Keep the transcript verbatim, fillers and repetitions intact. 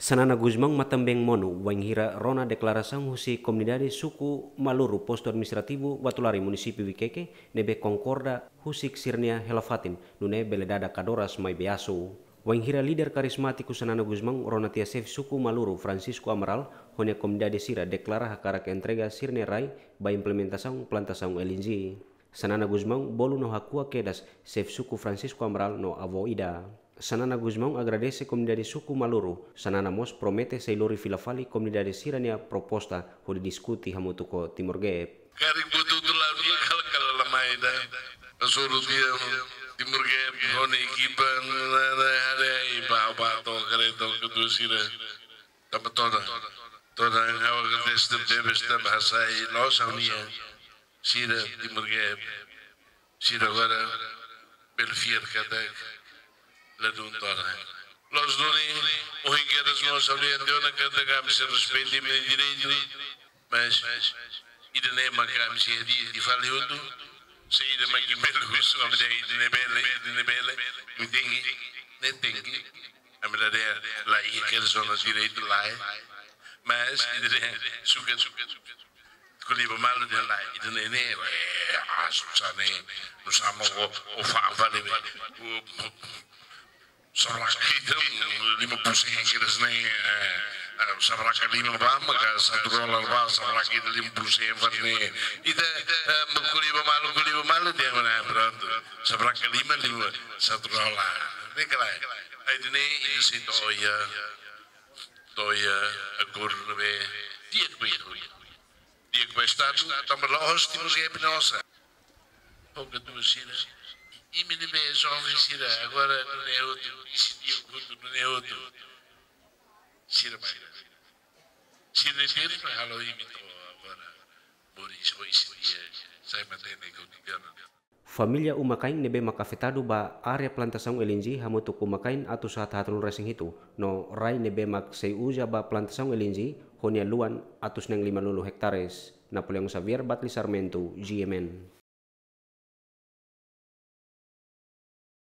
Xanana Gusmão matan-been monu wainhira rona deklarasaun husi komunidade suku Maluru, postu administrativu Uatulari, munisípiu Viqueque, ne'ebé konkorda husik sira-nia hela-fatin, nune'e bele dada kadoras maibé asu. Wainhira líder karizmátiku Xanana Gusmão rona tiha xefe suku Maluru, Francisco Amaral, ho nia komunidade sira deklara hakarak entrega sira-nia rai ba implementasaun plantasaun L N G. Xanana Gusmão bolu no hakuak kedas xefe suku Francisco Amaral no avó Ida. Xanana Gusmão agradese komunidade suku Maluru. Xanana mós promete sei lori fila fali komunidade sira-nia proposta hodi diskute hamutuk ho Timor Gap. Karik butuh tu la dia kala kala lamai da. Asuru dia Timor Gap, ho nia ekipa, na, na, hare, i ba, ba, to, kare, to, ketu sira. Tanba todan. Todan, hawa ke teste bebes, tanba hasai, loos ha'u-nia. Sira, Timor Gap. Sira agora, bele fiar katak, ladún todan. Loos duni, ohin kedas mós, ha'u dehan tiha ona katak, ami sei respeita imi-nia direitu. Mas, ida-ne'e mak ami sei hadi'a fali hotu. Se ida mak imi bele husu, ami dehan ida-ne'e bele, ida-ne'e bele. Imi tenke, ne'e tenke. Ami la dehan, la iha kedas ona direitu, lae. Mas, ida-ne'e, suka, suka, suka. Ko'alia ba malu dehan lae, ida-ne'e, ne'e, eh, ah, susah ne'e. Nusá mak o, o fa, fali be. O, o, Sabraka ida, lima puluh sen kedas ne'e, eh, eh, sabraka lima ba, maka satu dolar ba, sabraka ida lima puluh sen fali ne'e. Ita, eh, ko'alia ba malu, ko'alia ba malu dehan mana, prontu. Sabraka lima, lima, satu dolar. Ne'e ka lae. Ai, ida-ne'e, ita sei to'o iha, to'o iha akordu ne'ebé di'ak ba ita. Di'ak ba Estadu, tanba la'ós Timor Gap nia osan. Boka tu sira. Imi ne'ebé joven sira, agora nune'e hotu, isi di'ak hotu nune'e hotu. Sira mai. Sira ne'e terus mai halo imi to'o agora. Moris ho isi di'ak, sai matenek ho tiga. Família uma-kain ne'ebé mak afetadu ba área plantasaun L N G hamutuk uma-kain atus haat haatnulu resin hitu, no rai ne'ebé mak sei uza ba plantasaun L N G ho nia luan atus neen limanulu hektares. Napoleão Xavier, Batli Sarmento, G M N.